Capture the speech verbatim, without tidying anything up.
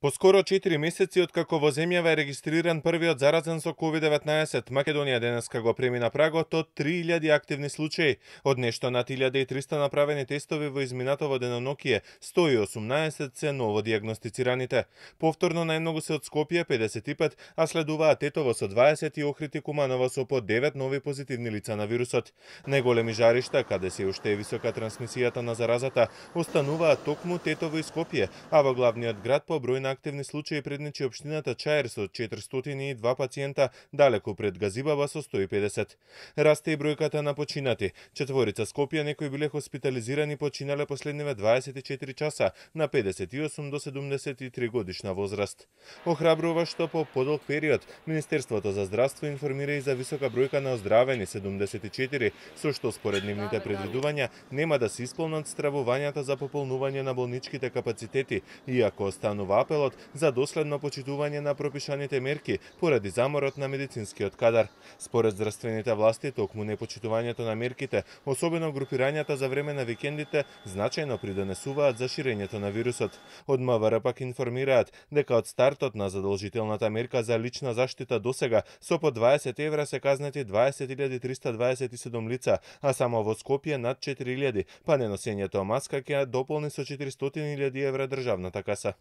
По скоро четири месеци откако во земјава е регистриран првиот заразен со ковид деветнаесет, Македонија денеска го премина прагот од три илјади активни случаи. Од нешто над илјада и триста направени тестови во изминатово денонокие, сто и осумнаесет се ново дијагностицираните. Повторно најмногу се од Скопје педесет и пет, а следуваат Тетово со дваесет и Охрид и Куманово со по девет нови позитивни лица на вирусот. Најголеми жаришта, каде се уште е висока трансмисијата на заразата, остануваат токму Тетово и Скопје, а во главниот град по број на активни случаи предничи општината Чаир со четиристотини и два пациента, далеку пред Газибаба со сто и педесет. Расте и бројката на починати. Четворица Скопјани биле хоспитализирани починале последниве дваесет и четири часа на педесет и осум до седумдесет и три годишна возраст. Охрабрува што по подолг период Министерството за здравство информира и за висока бројка на оздравени седумдесет и четири, со што според нивните предвидувања нема да се исполнат стравувањата за пополнување на болничките капацитети, иако останува апелот за доследно почитување на пропишаните мерки поради заморот на медицинскиот кадар. Според здравствените власти, токму непочитувањето на мерките, особено групирањата за време на викендите, значајно придонесуваат за ширењето на вирусот. Од МВР пак информираат дека од стартот на задолжителната мерка за лична заштита досега со по дваесет евра се казнети дваесет илјади триста дваесет и седум лица, а само во Скопје над четири илјади, па неносењето маска ќе дополни со четиристотини илјади евра државната каса.